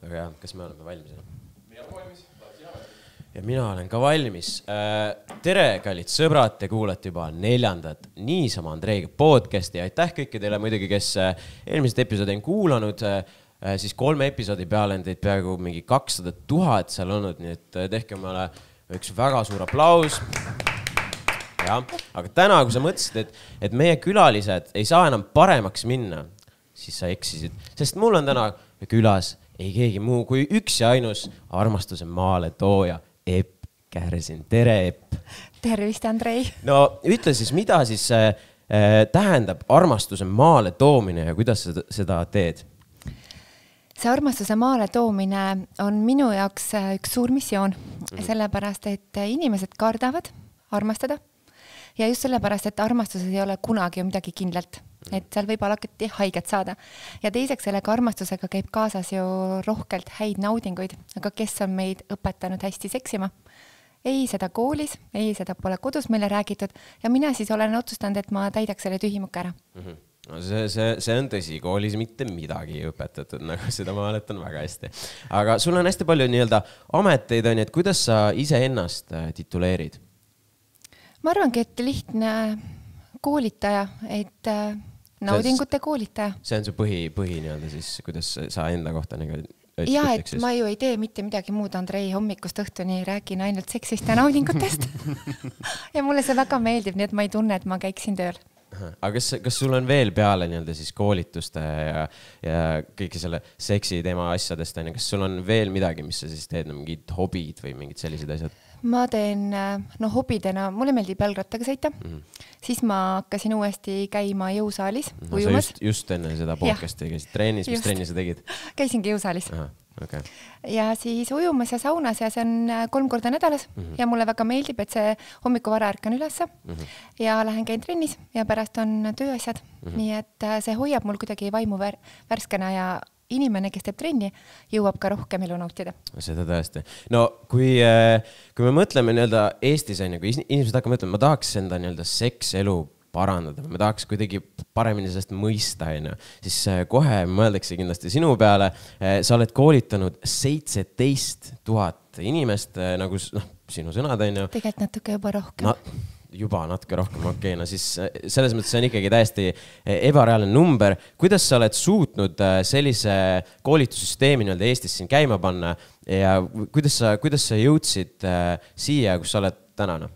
Väga hea, kas me oleme valmis? Mina olen valmis, ja mina olen ka valmis. Tere, kallid sõbrad, te kuulete juba 4. Niisama Andreiga podcasti. Aitäh kõikidele muidugi, kes eelmised episoodi on kuulanud. Siis 3 episoodi peale on teid peaaegu mingi 200 000 seal olnud, nii et tehke mulle üks väga suur aplaus. Ja, aga täna, kui sa mõtlesid, et meie külalised ei saa enam paremaks minna, siis sa eksisid. Sest mul on täna külas ei keegi muu kui üks ja ainus armastuse maale tooja, Epp Kärsin. Tere, Epp! Tervist, Andrei! No ütle siis, mida siis tähendab armastuse maale toomine ja kuidas seda teed? See armastuse maale toomine on minu jaoks üks suur missioon, sellepärast, et inimesed kardavad armastada ja just sellepärast, et armastuses ei ole kunagi ju midagi kindlalt. Et seal võib alati haiget saada. Ja teiseks sellega armastusega käib kaasas ju rohkelt häid naudinguid, aga kes on meid õpetanud hästi seksima? Ei seda koolis, ei seda pole kodus meile räägitud ja mina siis olen otsustanud, et ma täidaks selle tühimuka ära. No see on tõsi, koolis mitte midagi õpetatud, nagu seda ma mäletan väga hästi. Aga sul on hästi palju nii-öelda ameteid, on, et kuidas sa ise ennast tituleerid? Ma arvangi, et lihtne koolitaja, et naudingute koolitaja. See on su põhi nii-öelda siis, kuidas sa enda kohta ütleks? Ja, et ma ju ei tee mitte midagi muud, Andrei, hommikust õhtuni räägin ainult seksist ja naudingutest. Ja mulle see väga meeldib, nii et ma ei tunne, et ma käiksin tööl. Aga kas sul on veel peale nii-öelda siis koolituste ja kõike selle seksi teema asjadest, kas sul on veel midagi, mis sa siis teed, mingid hobid või mingid sellised asjad? Ma teen hobidena, mulle meeldib jalgrattaga sõita, siis ma hakkasin uuesti käima jõusaalis ujumas. Just enne seda podcasti käisid treenis, mis trenni sa tegid? Käisingi jõusaalis. Okay. Ja siis ujumas ja saunas ja see on 3 korda nädalas ja mulle väga meeldib, et see hommiku vara ärkan ülesse ja lähen käin trennis ja pärast on tööasjad. Nii et see hoiab mul kuidagi vaimu värskena ja inimene, kes teeb trenni, jõuab ka rohkem elu nautida. Seda tõesti. No, kui me mõtleme nii-öelda Eestis, inimesed hakkavad mõtlema, ma tahaks enda nii-öelda sekselu parandada, me tahaks kuidagi paremini sellest mõista, siis kohe mõeldakse kindlasti sinu peale. Sa oled koolitanud 17 000 inimest, nagu sinu sõnad on ju. Tegelikult natuke juba rohkem. Juba natuke rohkem, okei. No siis selles mõttes see on ikkagi täiesti ebareaalne number. Kuidas sa oled suutnud sellise koolitussüsteemi nii-öelda Eestis siin käima panna ja kuidas sa jõudsid siia, kus sa oled tänane?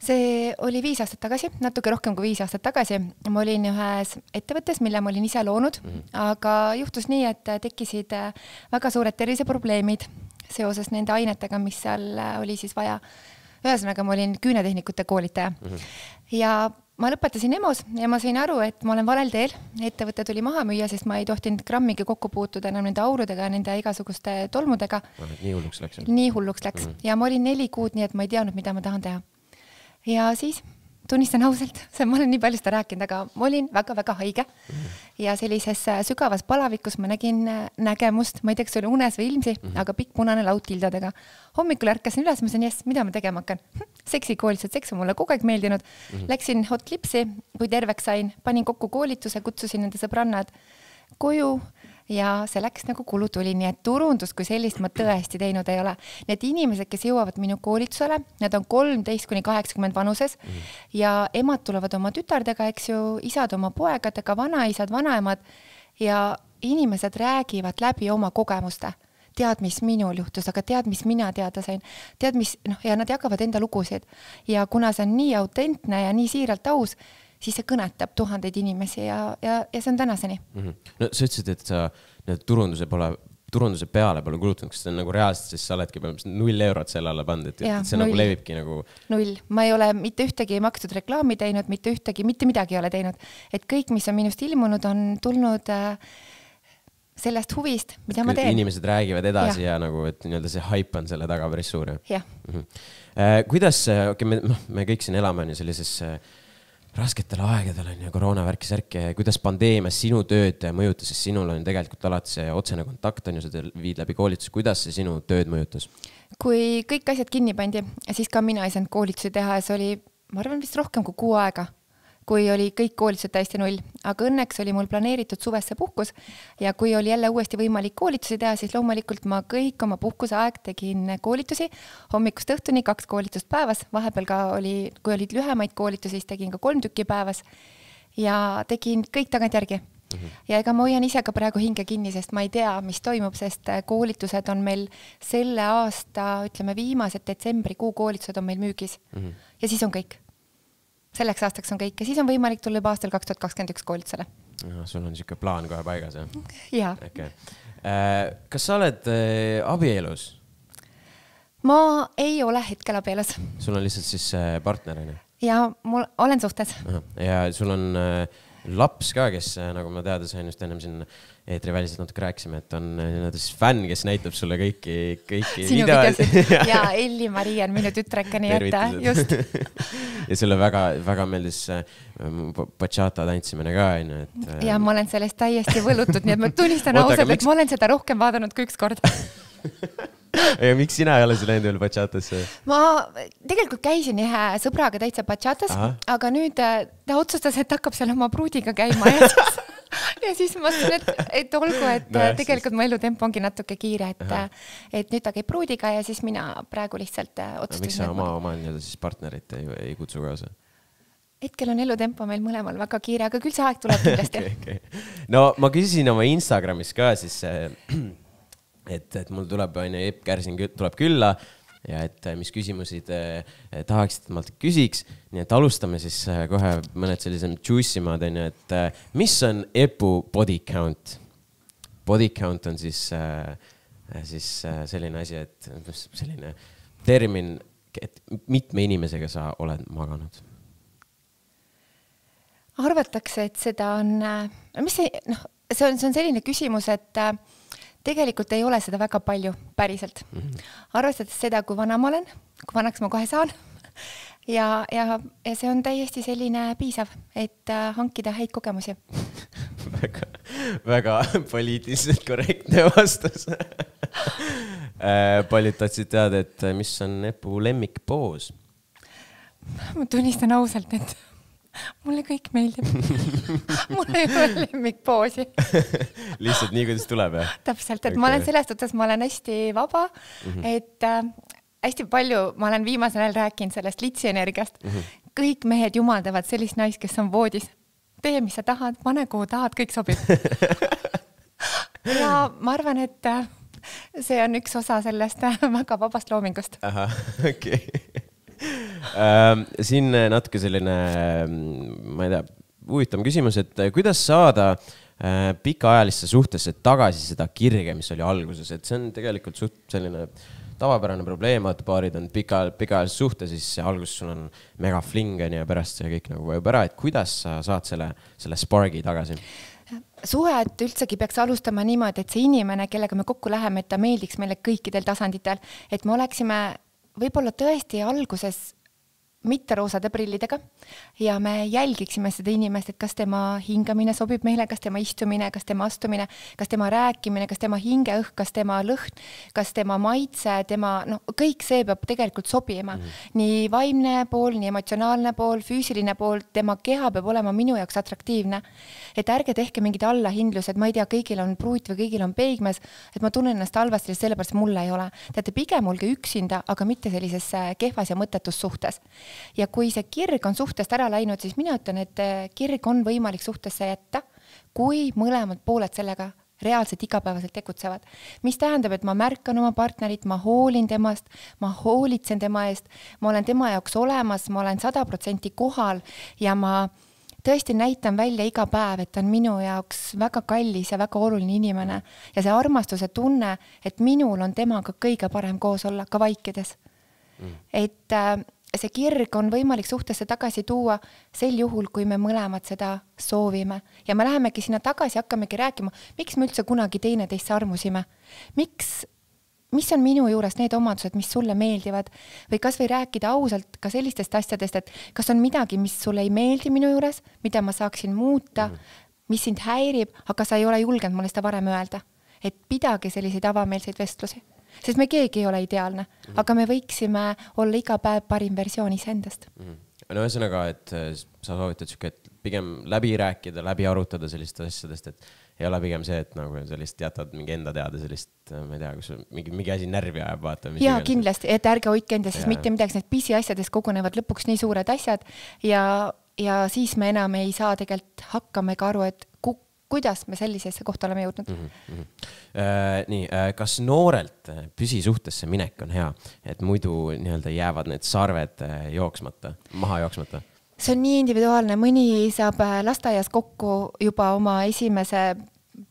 See oli 5 aastat tagasi, natuke rohkem kui 5 aastat tagasi. Ma olin ühes ettevõttes, mille ma olin ise loonud, aga juhtus nii, et tekkisid väga suured terviseprobleemid seoses nende ainetega, mis seal oli siis vaja. Ühesõnaga, ma olin küünetehnikute koolitaja. Ja ma lõpetasin EMO-s ja ma sain aru, et ma olen valel teel. Ettevõte tuli maha müüa, sest ma ei tohtinud grammigi kokku puutuda enam nende aurudega, nende igasuguste tolmudega. Nii hulluks läks. Nii hulluks läks. Ja ma olin 4 kuud, nii et ma ei teadnud, mida ma tahan teha. Ja siis tunnistan ausalt, ma olen nii palju seda rääkinud, aga ma olin väga-väga haige ja sellises sügavas palavikus ma nägin nägemust, ma ei tea, kas oli unes või ilmsi, aga pikk punane laud tildadega. Hommikul ärkasin üles, ma sain, mida ma tegema hakkan? Seksikoolitused, seks on mulle kogu aeg meeldinud. Läksin Hot Clipsi, kui terveks sain, panin kokku koolituse, kutsusin nende sõbrannad koju ja see läks nagu kulutuli, nii et turundus kui sellist ma tõesti teinud ei ole. Need inimesed, kes jõuavad minu koolitusele, need on 13–80 vanuses ja emad tulevad oma tütardega, eks ju, isad oma poegadega, vanaisad, vanaemad ja inimesed räägivad läbi oma kogemuste. Tead, mis minul juhtus, aga tead, mis mina teada sain. Tead, mis, ja nad jagavad enda lugusid. Ja kuna see on nii autentne ja nii siiralt aus, siis see kõnetab 1000 inimesi ja see on tänaseni. No sa ütlesid, et sa turunduse peale pole kulutanud, kas see on nagu reaalselt, siis sa oledki 0 eurot selle alla pandud, et see nagu levibki nagu... 0. Ma ei ole mitte ühtegi makstud reklaami teinud, mitte midagi ei ole teinud. Et kõik, mis on minust ilmunud, on tulnud sellest huvist, mida ma teen. Inimesed räägivad edasi ja nagu, et nii-öelda see hype on selle taga päris suur. Jah. Kuidas, me kõik siin elame sellises rasketel aegadel on ja koroonavärki särke, kuidas pandeemia sinu tööd mõjutas, sest sinul on tegelikult alati see otsene kontakt on ju, sa viid läbi koolitus, kuidas see sinu tööd mõjutas? Kui kõik asjad kinni pandi, siis ka mina ei saanud koolitusi teha ja see oli, ma arvan, vist rohkem kui 6 aega. kui oli kõik koolitused täiesti null, aga õnneks oli mul planeeritud suvesse puhkus ja kui oli jälle uuesti võimalik koolitusi teha, siis loomulikult ma kõik oma puhkuse aeg tegin koolitusi hommikust õhtuni 2 koolitust päevas, vahepeal ka oli, kui olid lühemaid koolitusi, siis tegin ka 3 tükki päevas ja tegin kõik tagantjärgi. Ja ega ma hoian ise ka praegu hinge kinni, sest ma ei tea, mis toimub, sest koolitused on meil selle aasta, ütleme viimased detsembrikuu koolitused on meil müügis ja siis on kõik. Selleks aastaks on kõik ja siis on võimalik tulla juba aastal 2021 koolitusele. Sul on niisugune plaan kohe paigas, jah? Jaa. Okay. Kas sa oled abielus? Ma ei ole hetkel abielus. Sul on lihtsalt siis partnerine? Ja mul olen suhtes. Ja sul on laps ka, kes nagu ma teada sain just ennem siin eetriväliselt natuke rääkisime, et on siis fänn, kes näitab sulle kõiki sinu videosid. Ja Elli-Maria on minu tütreka, nii et just. Ja sulle väga meeldis bachata tantsimine ka. Ja ma olen sellest täiesti võlutud, nii et ma tunnistan ausalt, et ma olen seda rohkem vaadanud kui üks kord. Ja miks sina ei ole see läinud veel bachatasse? Ma tegelikult käisin ühe sõbraga täitsa bachatas, aga nüüd ta otsustas, et hakkab seal oma pruudiga käima ja siis ma mõtlen, et olgu, et tegelikult mu elutempo ongi natuke kiire, et nüüd ta käib pruudiga ja siis mina praegu lihtsalt otsustasin. Miks sa oma siis partnerit ei kutsu kaasa? Hetkel on elutempo meil mõlemal väga kiire, aga küll see aeg tuleb kindlasti. Okay. No ma küsisin oma Instagramis ka siis et mul tuleb Epp Kärsin tuleb külla ja et mis küsimusi tahaksid, et ma küsiks. Nii et alustame siis kohe mõned sellised juicimad, et mis on Epu body count? Body count on siis selline asi, et selline termin, et mitme inimesega sa oled maganud? Arvatakse, et seda on, see on selline küsimus, et tegelikult ei ole seda väga palju päriselt. Arvestades seda, kui vana ma olen, kui vanaks ma kohe saan ja see on täiesti selline piisav, et hankida häid kogemusi. Väga poliitiliselt korrektne vastus. Paljud tahtsid teada, et mis on Epu lemmikpoos? Ma tunnistan ausalt, et mulle kõik meeldib. Mul ei ole lemmikpoosi. Lihtsalt nii, kuidas tuleb, jah? Täpselt, et ma olen selles suhtes, ma olen hästi vaba, et hästi palju, ma olen viimasel ajal rääkinud sellest litsienergiast. Kõik mehed jumaldavad sellist naist, kes on voodis. Tee, mis sa tahad, pane kuhu tahad, kõik sobib. Ja ma arvan, et see on üks osa sellest väga vabast loomingust. Aha, okei. Siin natuke selline, ma ei tea, huvitav küsimus, et kuidas saada pikaajalisse suhtesse tagasi seda kirge, mis oli alguses, et see on tegelikult suht selline tavapärane probleem, et paarid on pikaajalisse suhte, siis alguses sul on mega flingen ja pärast see kõik nagu vajub ära, et kuidas sa saad selle spargi tagasi? Suhet üldsegi peaks alustama niimoodi, et see inimene, kellega me kokku läheme, et ta meeldiks meile kõikidel tasanditel, et me oleksime võib-olla tõesti alguses mitte roosade prillidega ja me jälgiksime seda inimest, et kas tema hingamine sobib meile, kas tema istumine, kas tema astumine, kas tema rääkimine, kas tema hingeõhk, kas tema lõhn, kas tema maitse, kõik see peab tegelikult sobima. Nii vaimne pool, nii emotsionaalne pool, füüsiline pool, tema keha peab olema minu jaoks atraktiivne. Et ärge tehke mingid allahindlused, ma ei tea, kõigil on pruut või kõigil on peigmes, et ma tunnen ennast halvasti, sellepärast mulle ei ole. Teate, pigem olge üksinda, aga mitte sellises kehvas ja mõttetus suhtes. Ja kui see kirg on suhtest ära läinud, siis mina ütlen, et kirg on võimalik suhtesse jätta, kui mõlemad pooled sellega reaalselt igapäevaselt tegutsevad. Mis tähendab, et ma märkan oma partnerit, ma hoolin temast, ma hoolitsen tema eest, ma olen tema jaoks olemas, ma olen 100% kohal ja ma tõesti näitan välja iga päev, et ta on minu jaoks väga kallis ja väga oluline inimene. Ja see armastuse tunne, et minul on temaga kõige parem koos olla, ka vaikides. Et see kirg on võimalik suhtesse tagasi tuua sel juhul, kui me mõlemad seda soovime. Ja me lähemegi sinna tagasi, hakkamegi rääkima, miks me üldse kunagi teineteist armusime. Mis on minu juures need omadused, mis sulle meeldivad? Või kas või rääkida ausalt ka sellistest asjadest, et kas on midagi, mis sulle ei meeldi minu juures, mida ma saaksin muuta, mis sind häirib, aga sa ei ole julgenud mulle seda varem öelda. Et pidage selliseid avameelseid vestlusi. Sest me keegi ei ole ideaalne, aga me võiksime olla iga päev parim versioon iseendast. No ühesõnaga, et sa soovitad siuke, et pigem läbi rääkida, läbi arutada sellist asjadest, et ei ole pigem see, et nagu sellist jätad mingi enda teada sellist, ma ei tea, kus mingi asi närvi ajab, vaata. Ja kindlasti, et ärge hoidke enda siis mitte midagi, need pisiasjades kogunevad lõpuks nii suured asjad ja siis me enam ei saa tegelikult hakkama ega aru, et kuidas me sellisesse kohta oleme jõudnud. Nii, kas noorelt püsisuhtesse minek on hea, et muidu nii-öelda jäävad need sarved maha jooksmata? See on nii individuaalne, mõni saab lasteaias kokku juba oma esimese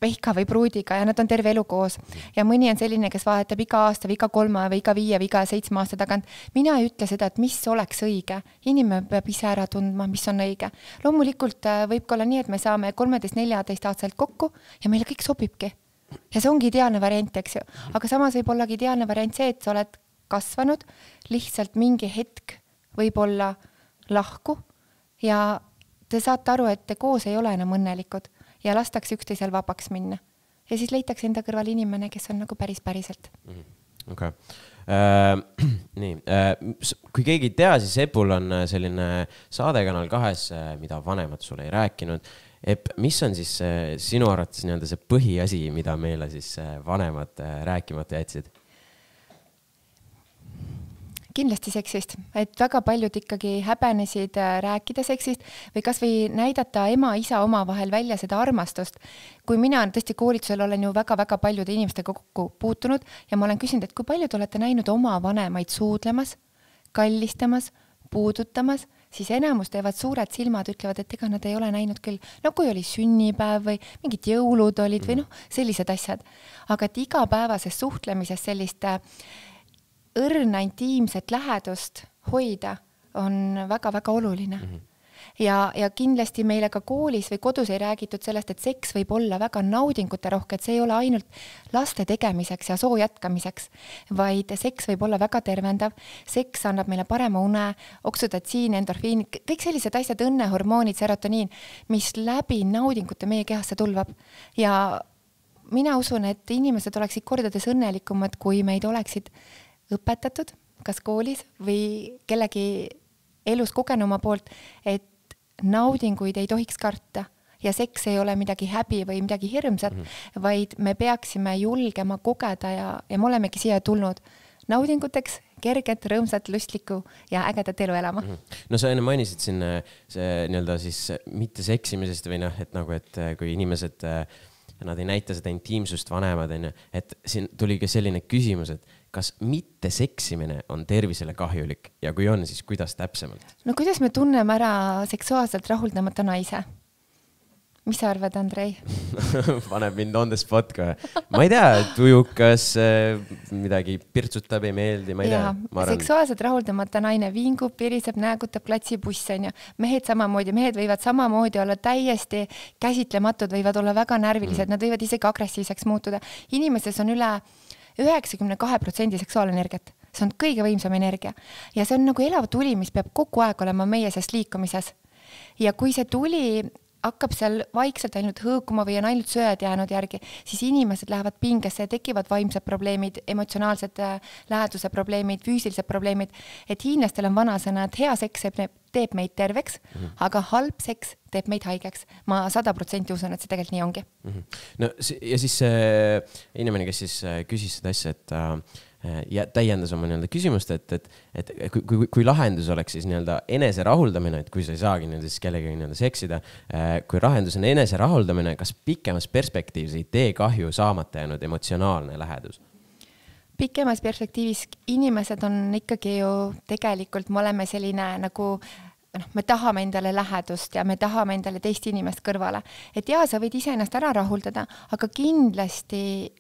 pehka või pruudiga ja nad on terve elu koos. Ja mõni on selline, kes vahetab iga aasta või iga 3 või iga 5 või iga 7 aasta tagant. Mina ei ütle seda, et mis oleks õige. Inimene peab ise ära tundma, mis on õige. Loomulikult võib olla nii, et me saame 13-14 aastaselt kokku ja meile kõik sobibki. Ja see ongi ideaalne variant, eks ju. Aga samas võib ollagi ideaalne variant see, et sa oled kasvanud, lihtsalt mingi hetk võib olla lahku ja te saate aru, et te koos ei ole enam õnnelikud ja lastakse üksteisel vabaks minna. Ja siis leitakse enda kõrval inimene, kes on nagu päriselt. Okay. Nii, kui keegi ei tea, siis Epul on selline saadekanal 2, mida vanemad sulle ei rääkinud. Mis on siis sinu arvates see põhiasi, mida meile siis vanemad rääkimata jätsid? Kindlasti seksist, et väga paljud ikkagi häbenesid rääkida seksist või kas või näidata ema-isa oma vahel välja seda armastust. Kui mina tõesti koolitusel olen ju väga-väga paljude inimestega kokku puutunud ja ma olen küsinud, et kui paljud olete näinud oma vanemaid suudlemas, kallistamas, puudutamas, siis enamus teevad suured silmad, ütlevad, et ega nad ei ole näinud küll. No kui oli sünnipäev või mingid jõulud olid või sellised asjad. Aga et igapäevases suhtlemises sellist õrna intiimset lähedust hoida on väga-väga oluline. Ja kindlasti meile ka koolis või kodus ei räägitud sellest, et seks võib olla väga naudingute rohke, et see ei ole ainult laste tegemiseks ja soo jätkamiseks, vaid seks võib olla väga tervendav. Seks annab meile parema une, oksüdotsiin, endorfiin, kõik sellised asjad, õnnehormoonid, serotoniin, mis läbi naudingute meie kehasse tulvab. Ja mina usun, et inimesed oleksid kordades õnnelikumad, kui meid oleksid õpetatud, kas koolis või kellegi elus kogenuma poolt, et naudinguid ei tohiks karta ja seks ei ole midagi häbi või midagi hirmsat, vaid me peaksime julgema kogeda ja me olemegi siia tulnud naudinguteks, kerget, rõõmsat, lustlikku ja ägedat elu elama. No sa enne mainisid siin see nii-öelda siis mitte seksimisest või et nagu, et kui inimesed nad ei näita seda intiimsust vanemad, et siin tuli ka selline küsimus, et kas mitte seksimine on tervisele kahjulik ja kui on, siis kuidas täpsemalt? No kuidas me tunneme ära seksuaalselt rahuldamata naise? Mis sa arvad, Andrei? Paneb mind on the spot ka. Ma ei tea, tujukas, midagi pirtsutab, ei meeldi, ma ei tea. Seksuaalselt rahuldamata naine vingub, piriseb, näägutab, klatsibuss on ju. Mehed samamoodi, mehed võivad samamoodi olla täiesti käsitlematud, võivad olla väga närvilised, nad võivad isegi agressiivseks muutuda. Inimestes on üle 92% seksuaalenergiat. See on kõige võimsam energia. Ja see on nagu elav tuli, mis peab kogu aeg olema meie sest liikumises. Ja kui see tuli hakkab seal vaikselt ainult hõõkuma või on ainult sööd jäänud järgi, siis inimesed lähevad pingesse ja tekivad vaimsed probleemid, emotsionaalsed läheduse probleemid, füüsilised probleemid. Et hiinlastel on vanasõna, et hea seks teeb meid terveks, aga halb seks teeb meid haigeks. Ma 100% usun, et see tegelikult nii ongi. No, ja siis inimene, kes siis küsis seda asja, et ja täiendas oma küsimust, et kui lahendus oleks siis enese rahuldamine, et kui sa ei saagi siis kellegagi seksida, kui lahendus on enese rahuldamine, kas pikemas perspektiivis ei tee kahju saamata jäänud emotsionaalne lähedus? Pikemas perspektiivis inimesed on ikkagi ju tegelikult, me oleme selline nagu me tahame endale lähedust ja me tahame endale teist inimest kõrvale. Et jaa, sa võid ise ennast ära rahuldada, aga kindlasti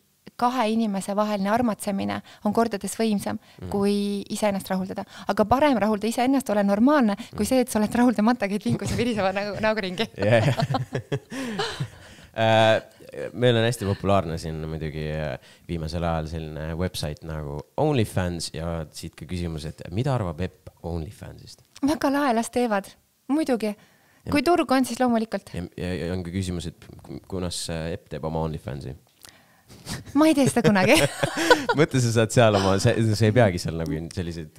kahe inimese vaheline armatsemine on kordades võimsam, kui ise ennast rahuldada. Aga parem rahulda ise ennast, ole normaalne, kui see, et sa oled rahuldamata, käid vinkus ja viriseva nagu ringi. Meil on hästi populaarne siin muidugi viimasel ajal selline website nagu OnlyFans ja siit ka küsimus, et mida arvab Epp OnlyFansist? Väga lahe, las teevad. Muidugi. Kui turg on, siis loomulikult. Ja on ka küsimus, et kunas Epp teeb oma OnlyFansi? ma ei tee seda kunagi. Mõtle, sa saad seal oma, sa ei peagi seal nagu selliseid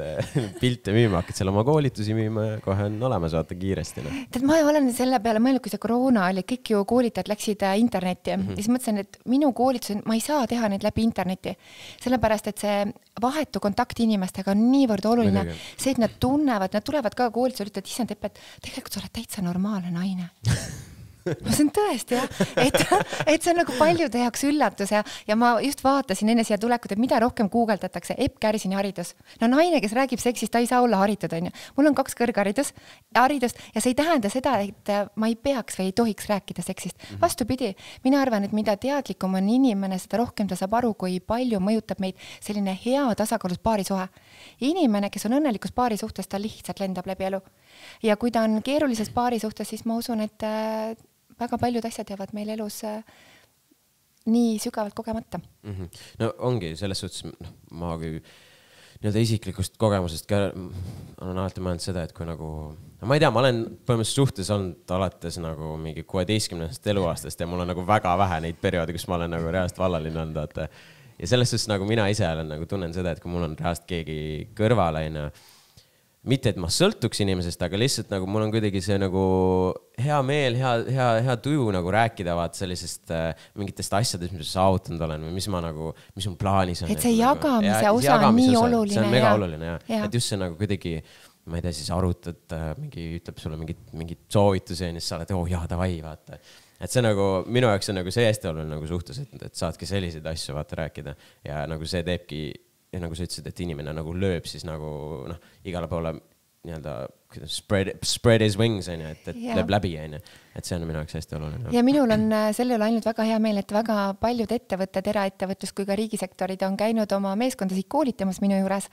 pilte müüma, hakkad seal oma koolitusi müüma ja kohe on olemas, vaata kiiresti. Tead, ma olen selle peale mõelnud, kui see koroona oli, kõik ju koolitajad läksid internetti ja siis mõtlesin, et minu koolitus, ma ei saa teha neid läbi internetti, sellepärast, et see vahetu kontakt inimestega on niivõrd oluline. See, et nad tunnevad, nad tulevad ka koolitusel, ütlevad, issand Tepp, et tegelikult sa oled täitsa normaalne naine. See on tõesti, jah, et see on nagu paljude jaoks üllatus ja ma just vaatasin enne siia tulekut, et mida rohkem guugeldatakse, Epp Kärsini haridus. No naine, kes räägib seksist, ta ei saa olla haritud, on ju. Mul on 2 kõrgharidust ja see ei tähenda seda, et ma ei peaks või ei tohiks rääkida seksist. Vastupidi, mina arvan, et mida teadlikum on inimene, seda rohkem ta saab aru, kui palju mõjutab meid selline hea tasakaalus paarisuhe. Inimene, kes on õnnelikus paarisuhtes, ta lihtsalt lendab läbi elu. Ja kui ta on keerulises paarisuhtes, siis ma usun, et väga paljud asjad jäävad meil elus nii sügavalt kogemata. No ongi selles suhtes, ma kui nii-öelda isiklikust kogemusest ka olen alati mõelnud seda, et kui nagu, ma ei tea, ma olen põhimõtteliselt suhtes olnud alates nagu mingi 16. eluaastast ja mul on nagu väga vähe neid perioodi, kus ma olen nagu reaalselt vallaline olnud. Ja selles suhtes nagu mina ise olen nagu tunnen seda, et kui mul on reaalselt keegi kõrvalaine, mitte, et ma sõltuks inimesest, aga lihtsalt nagu mul on kuidagi see nagu hea meel, hea tuju nagu rääkida vaat sellisest mingitest asjadest, mis ma saavutanud olen või mis ma nagu, mis on plaanis on. Et see jagamise osa on nii oluline. See on mega oluline, jah. Et just see nagu kuidagi, ma ei tea, siis arutad, ütleb sulle mingit soovitusi ja siis sa oled, jaa, davai, vaata. Et see nagu, minu jaoks on nagu see hästi oluline nagu suhtes, et saadki selliseid asju vaata rääkida ja nagu see teebki. Ja nagu sa ütlesid, et inimene nagu lööb siis nagu igale poole nii-öelda spread his wings, et lööb läbi, et see on minu jaoks hästi oluline. Ja minul on selle üle ainult väga hea meel, et väga paljud ettevõtted, eraettevõtlus kui ka riigisektorid on käinud oma meeskondasid koolitamas minu juures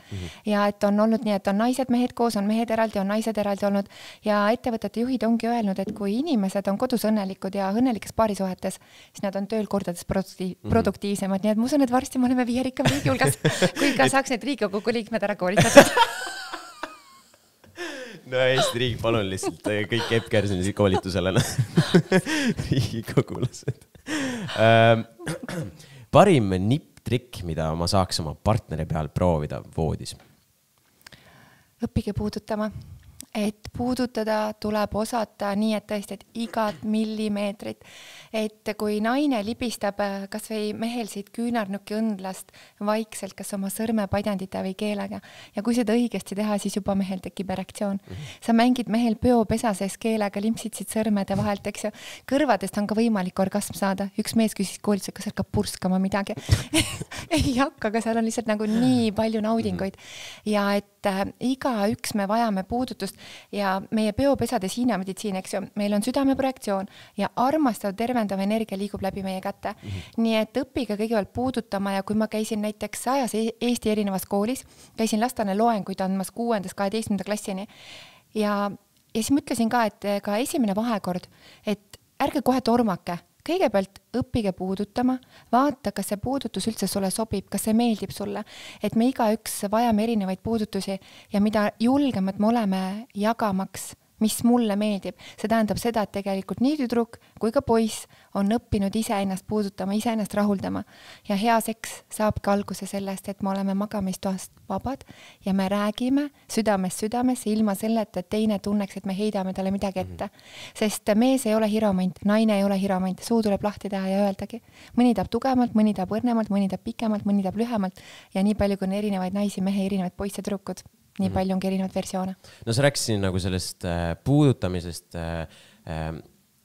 ja et on olnud nii, et on naised, mehed koos, on mehed eraldi, on naised eraldi olnud ja ettevõtete juhid ongi öelnud, et kui inimesed on kodus õnnelikud ja õnnelikes paarisuhetes, siis nad on tööl kordades produktiivsemad, nii et ma usun, et varsti me oleme 5 rikkam riigi hulgas, kui ka saaks need Riigikogu liikmed ära koolitatud. No Eesti riik, palun lihtsalt kõik Epp Kärsini koolitusele riigikogulased. Parim nipp-trikk, mida ma saaks oma partneri peal proovida voodis? Õppige puudutama. Et puudutada tuleb osata nii, et tõesti, et igat millimeetrit. Et kui naine libistab kas või mehel siit küünarnuki õndlast vaikselt, kas oma sõrmepadjandite või keelega. Ja kui seda õigesti teha, siis juba mehel tekib erektsioon. Sa mängid mehel peopesa sees keelega, limpsid siit sõrmede vahelt, eks ju. Kõrvadest on ka võimalik orgasm saada. Üks mees küsis koolitusel, kas hakkab purskama midagi. Ei hakka, aga seal on lihtsalt nagu nii palju naudinguid. Ja et iga üks me vajame puudutust ja meie peopesades Hiina meditsiin, eks ju, meil on südameprojektsioon ja armastav tervendav energia liigub läbi meie kätte. Nii et õppige kõigepealt puudutama ja kui ma käisin näiteks 100 Eesti erinevas koolis, käisin lastane loenguid andmas 6.–12. klassini ja siis mõtlesin ka, et ka esimene vahekord, et ärge kohe tormake. Kõigepealt õppige puudutama, vaata, kas see puudutus üldse sulle sobib, kas see meeldib sulle, et me igaüks vajame erinevaid puudutusi ja mida julgemad me oleme jagamaks, mis mulle meeldib. See tähendab seda, et tegelikult nii tüdruk kui ka poiss on õppinud iseennast puudutama, iseennast rahuldama ja hea seks saabki alguse sellest, et me oleme magamistoast vabad ja me räägime südamest südamesse ilma selleta, et teine tunneks, et me heidame talle midagi ette. Sest mees ei ole hiromant, naine ei ole hiromant, suu tuleb lahti teha ja öeldagi. Mõni tahab tugevalt, mõni tahab õrnemalt, mõni tahab pikemalt, mõni tahab lühemalt ja nii palju kui on erinevaid naisi, mehe, erinevaid poisse, tüdrukud. Nii palju ongi erinevaid versioone. No sa rääkisid nagu sellest puudutamisest.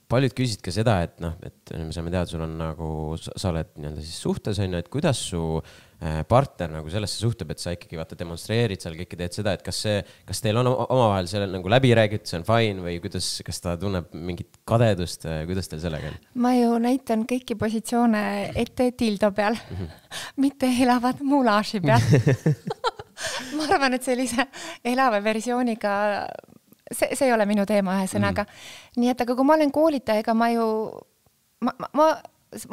Paljud küsisid ka seda, et me saame teada, sul on nagu, sa oled nii-öelda siis suhtes, et kuidas su partner nagu sellesse suhtub, et sa ikkagi vaata demonstreerid seal kõike teed seda, et kas teil on omavahel selle nagu läbi räägitud, see on fine või kuidas, kas ta tunneb mingit kadedust, kuidas teil sellega on? Ma ju näitan kõiki positsioone ette tildo peal, mitte elavad mulaaži peal. Ma arvan, et sellise elava versiooniga, see ei ole minu teema ühesõnaga. Nii et, aga kui ma olen koolitaja, ega ma ju, ma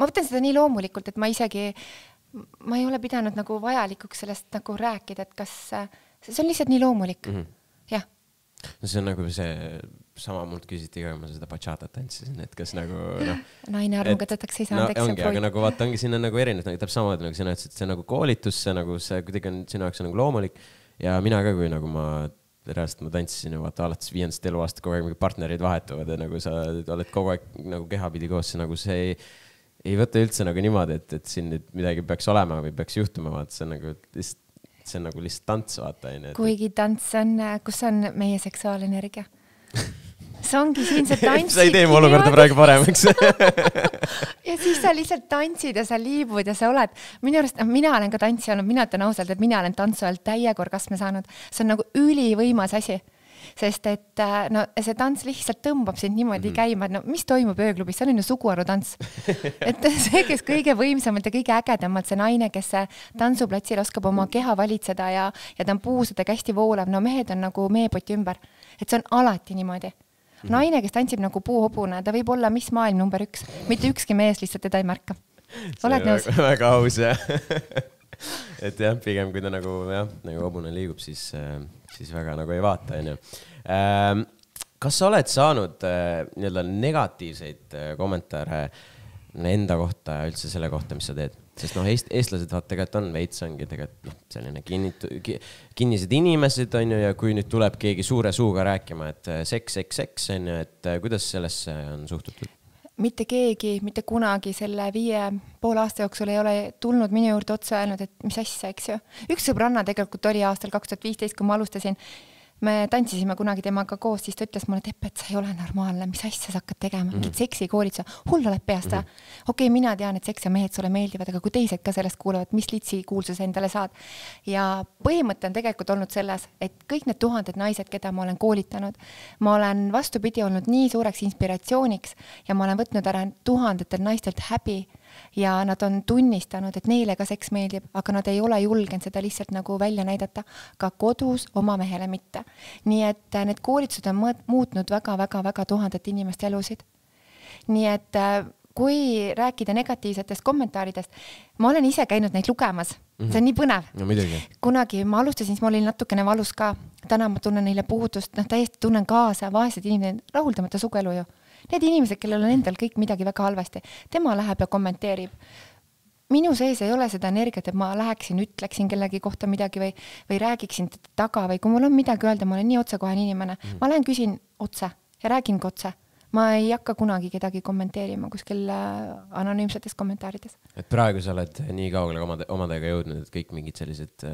võtan seda nii loomulikult, et ma ei ole pidanud nagu vajalikuks sellest nagu rääkida, et kas see on lihtsalt nii loomulik. Jah. No see on nagu see, sama mult küsiti ka, ma seda bachatat tantsisin, et kas nagu naine armugadetaks ei saanud, eks ongi, aga nagu vaata, ongi sinna nagu erinev, nagu täpselt samamoodi nagu sina ütlesid, et see nagu koolitus, see nagu see kuidagi on sinu jaoks nagu loomulik ja mina ka, kui nagu ma reaalselt ma tantsisin ja vaata alates 5. eluaasta kogu aeg mingi partnerid vahetuvad ja nagu sa oled kogu aeg nagu kehapidi koos, see nagu see ei võta üldse nagu niimoodi, et siin nüüd midagi peaks olema või peaks juhtuma, vaata see on nagu lihtsalt tants, vaata. Kuigi tants on, kus on meie seksuaalenergia? See ongi siin see tantsid. Sa ei tee mu olukorda praegu paremaks. Ja siis sa lihtsalt tantsid ja sa liibud ja sa oled. Minu arust, mina olen ka tantsi olnud, mina ütlen ausalt, et mina olen tantsu ajal täiega orgasme saanud. See on nagu ülivõimas asi. Sest et no, see tants lihtsalt tõmbab sind niimoodi käima, et no mis toimub ööklubis, see on ju suguharutants. Et see, kes kõige võimsamalt ja kõige ägedamalt, see naine, kes tantsuplatsil oskab oma keha valitseda ja ta on puusadega hästi voolav, no mehed on nagu meepoti ümber. Et see on alati niimoodi. Naine, kes tantsib nagu puuhobune, ta võib olla mis maailm number 1. Mitte ükski mees lihtsalt teda ei märka. Oled nõus? Väga aus, jah. Et jah, pigem kui ta nagu hobune liigub, siis väga nagu ei vaata. Kas sa oled saanud negatiivseid kommentaare enda kohta ja üldse selle kohta, mis sa teed? Sest eestlased vaat tegelikult on veits ongi tegelikult selline kinnised inimesed on ju, ja kui nüüd tuleb keegi suure suuga rääkima, et seks on ju, et kuidas sellesse on suhtutud? Mitte keegi, mitte kunagi selle 5,5 aasta jooksul ei ole tulnud minu juurde otsa öelnud, et mis asja, eks ju. Üks sõbranna tegelikult oli aastal 2015, kui ma alustasin. Me tantsisime kunagi temaga koos, siis ta ütles mulle, et sa ei ole normaalne, mis asja sa hakkad tegema, mingid seksikoolituse, hull oled peast. Okei, mina tean, et seks ja mehed sulle meeldivad, aga kui teised ka sellest kuulevad, mis litsi kuulsuse endale saad. Ja põhimõte on tegelikult olnud selles, et kõik need 1000 naised, keda ma olen koolitanud, ma olen vastupidi olnud nii suureks inspiratsiooniks ja ma olen võtnud ära 1000 naistelt häbi ja nad on tunnistanud, et neile ka seks meeldib, aga nad ei ole julgenud seda lihtsalt nagu välja näidata, ka kodus oma mehele mitte. Nii et need koolitused on muutnud väga 1000 inimeste elusid. Nii et kui rääkida negatiivsetest kommentaaridest, ma olen ise käinud neid lugemas. See on nii põnev. No, kunagi ma alustasin, siis ma olin natukene valus ka. Täna ma tunnen neile puudust, täiesti tunnen kaasa, vaesed inimesed, rahuldamata sugelu ju. Need inimesed, kellel on endal kõik midagi väga halvasti, tema läheb ja kommenteerib. Minu sees ei ole seda energiat, et ma läheksin, ütleksin kellegi kohta midagi või räägiksin taga või kui mul on midagi öelda, ma olen nii otsekohane inimene. Ma lähen küsin otse ja räägin otse. Ma ei hakka kunagi kedagi kommenteerima kuskil anonüümsetes kommentaarides. Et praegu sa oled nii kaugele omadega jõudnud, et kõik mingid sellised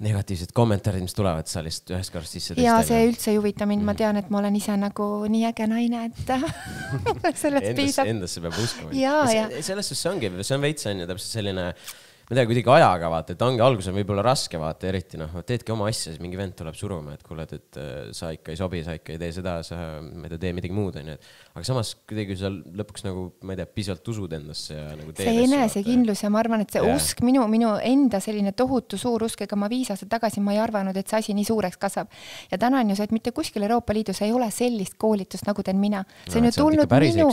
negatiivsed kommentaarid, mis tulevad, sa lihtsalt ühes korras sisse ja see üldse ei huvita mind, ma tean, et ma olen ise nagu nii äge naine, et sellest piisab. Endasse peab uskuma. Selles see ongi, see on veits on ju täpselt selline, ma tean kuidagi ajaga vaata, et ongi algus on võib-olla raske vaata, eriti teedki oma asja, siis mingi vend tuleb suruma, et kuuled, et sa ikka ei sobi, sa ikka ei tee seda, ma ei tee midagi muud. Aga samas kuidagi sa lõpuks nagu, ma ei tea, pisalt usud endasse ja nagu teed. See enesekindlus ja ma arvan, et see usk, minu enda selline tohutu suur usk, ega ma 5 aastat tagasi ma ei arvanud, et see asi nii suureks kasvab. Ja täna on ju see, et mitte kuskil Euroopa Liidus ei ole sellist koolitust, nagu teen mina. See on ju tulnud minu,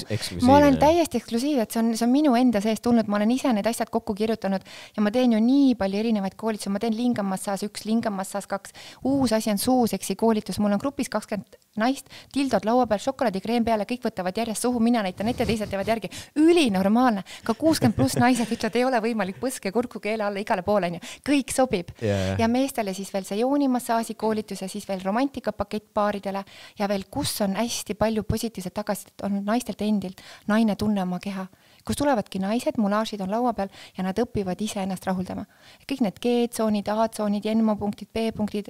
ma olen täiesti eksklusiiv, et see on minu enda sees tulnud, ma olen ise need asjad kokku kirjutanud ja ma teen ju nii palju erinevaid koolitusi, ma teen lingamassaas 1, lingamassaas 2, uus asi on suuseksi koolitus, mul on grupis 20 naist, tildod laua peal, šokolaadikreem peale, kõik võtavad järjest suhu, mina näitan ette, teised teevad järgi. Ülinormaalne, ka 60+ naised ütlevad, ei ole võimalik põske kurku keele alla igale poole, kõik sobib. Ja meestele siis veel see joonimassaasi koolitus ja siis veel romantikapakett paaridele ja veel, kus on hästi palju positiivset tagasidet olnud naistelt endilt, naine tunne oma keha. Kus tulevadki naised, mulaažid on laua peal ja nad õpivad ise ennast rahuldama. Kõik need G-tsoonid, A-tsoonid, N-punktid, B-punktid,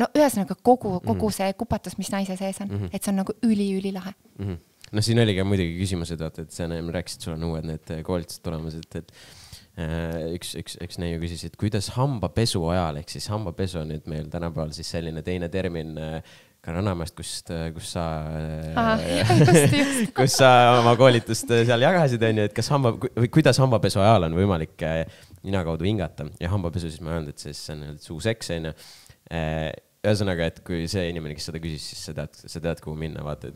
no ühesõnaga kogu see kupatus, mis naise sees on, et see on nagu ülilahe. No siin oli ka muidugi küsimused, et sa rääkisid, sul on uued need koolitused tulemas, et üks neiu küsis, et kuidas hambapesu ajal, ehk siis hambapesu on nüüd meil tänapäeval siis selline teine termin Rannamäest, kus sa oma koolitust seal jagasid, et kuidas hambapesu ajal on võimalik nina kaudu hingata ja hambapesu siis ma öelnud, et see on suuseks. Ühesõnaga, et kui see inimene, kes seda küsis, siis sa tead, kuhu minna, vaata,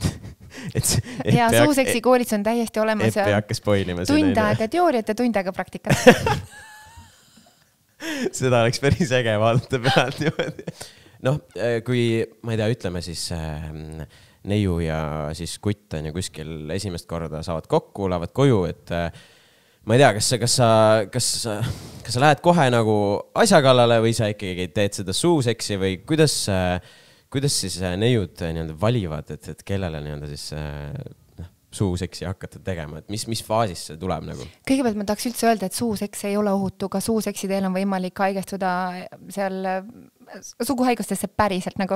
ja suuseksi koolitus on täiesti olemas. Eppi hakka spoilima. Tund aega teooriat ja tund aega praktikat. Seda oleks päris äge vaadata pealt niimoodi. noh, kui ma ei tea, ütleme siis neiu ja siis kutt on ju kuskil esimest korda saavad kokku, lähevad koju, et ma ei tea, kas sa lähed kohe nagu asja kallale või sa ikkagi teed seda suuseksi või kuidas siis neiud nii-öelda valivad, et kellele nii-öelda siis suuseksi hakata tegema, et mis faasis see tuleb nagu? Kõigepealt ma tahaks üldse öelda, et suuseks ei ole ohutu, ka suuseksi teel on võimalik haigestuda seal suguhaigustesse päriselt nagu.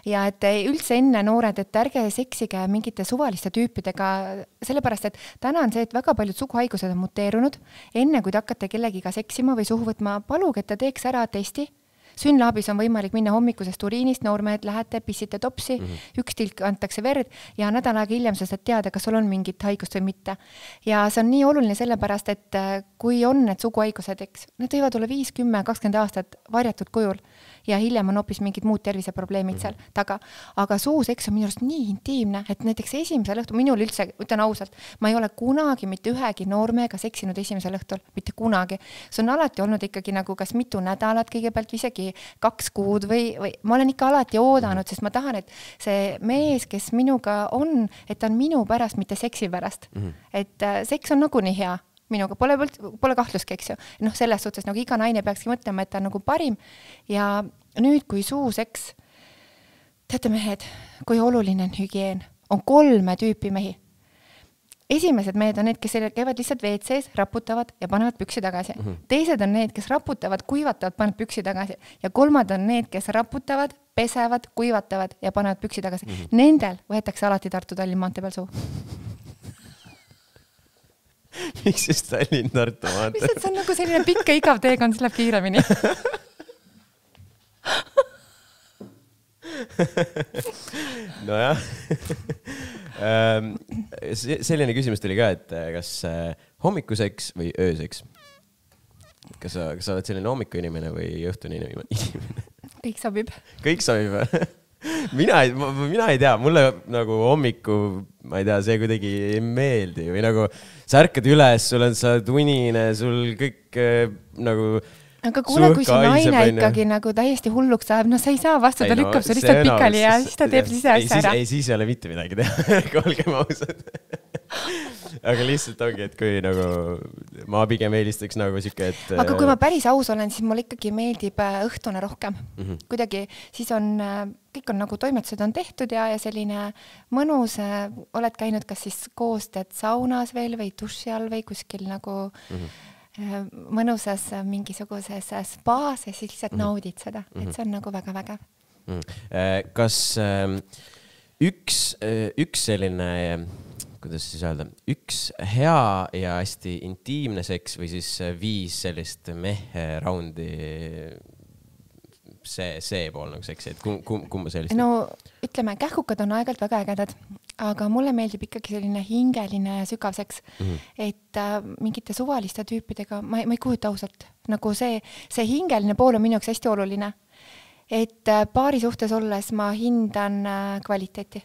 Ja et üldse enne noored, et ärge seksige mingite suvaliste tüüpidega, sellepärast, et täna on see, et väga paljud suguhaigused on muteerunud. Enne kui te hakkate kellegiga seksima või suhu võtma, paluge, et ta teeks ära testi. Synlabis on võimalik minna hommikusest uriinist, noormehed lähete, pissite topsi, üks tilk antakse verd ja nädal aega hiljem sa saad teada, kas sul on mingit haigust või mitte. Ja see on nii oluline sellepärast, et kui on need suguhaigused, eks, need võivad olla 5, 10, 20 aastat varjatud kujul ja hiljem on hoopis mingid muud terviseprobleemid seal taga. Aga suuseks on minu arust nii intiimne, et näiteks esimesel õhtul, minul üldse, ütlen ausalt, ma ei ole kunagi mitte ühegi noormega seksinud esimesel õhtul, mitte kunagi. See on alati olnud ikkagi nagu kas mitu nädalat kõigepealt või isegi 2 kuud või ma olen ikka alati oodanud, sest ma tahan, et see mees, kes minuga on, et ta on minu pärast, mitte seksi pärast. Et seks on nagu nii hea. Minuga pole kahtluski, eks ju. Noh, selles suhtes nagu iga naine peakski mõtlema, et ta on nagu parim. Ja nüüd, kui suuseks, teate mehed, kui oluline on hügieen, on 3 tüüpi mehi. Esimesed mehed on need, kes käivad lihtsalt WC-s, raputavad ja panevad püksi tagasi. Teised on need, kes raputavad, kuivatavad, panevad püksi tagasi. Ja 3 on need, kes raputavad, pesevad, kuivatavad ja panevad püksi tagasi. Nendel võetakse alati Tartu Tallinna maantee peal suu. Miks just Tallinn Tartu maantee? Lihtsalt see on nagu selline pikk ja igav teekond, see läheb kiiremini. Nojah. Selline küsimus tuli ka, et kas hommikuseks või ööseks? Kas sa oled selline hommiku inimene või õhtune inimene? Kõik sobib. Kõik sobib. Mina ei tea, mulle nagu hommiku, ma ei tea, see kuidagi ei meeldi või nagu sa ärkad üles, sa oled unine, sul kõik nagu aga kuule, kui see naine ikkagi nagu täiesti hulluks saab, no sa ei saa vastu, ta lükkab see lihtsalt pikali ja siis ta teeb siis asja ära. Ei, siis ei ole mitte midagi teha, olgem ausad. Aga lihtsalt ongi, et kui nagu ma pigem eelistaks nagu siuke, et aga kui ma päris aus olen, siis mulle ikkagi meeldib õhtune rohkem. Kuidagi siis on, kõik on nagu toimetused on tehtud ja selline mõnus, oled käinud kas siis koos teed saunas veel või duši all või kuskil nagu mõnusas mingisuguses spaas ja siis lihtsalt naudid seda, et see on nagu väga vägev. Kas üks selline, kuidas siis öelda, üks hea ja hästi intiimne seks või siis 5 sellist mehe raundi see pool nagu seksi, et kumma sellist? No ütleme, kähkukad on aegalt väga ägedad, aga mulle meeldib ikkagi selline hingeline sügav seks, et mingite suvaliste tüüpidega, ma ei kujuta ausalt, nagu see hingeline pool on minu jaoks hästi oluline, et paari suhtes olles ma hindan kvaliteeti.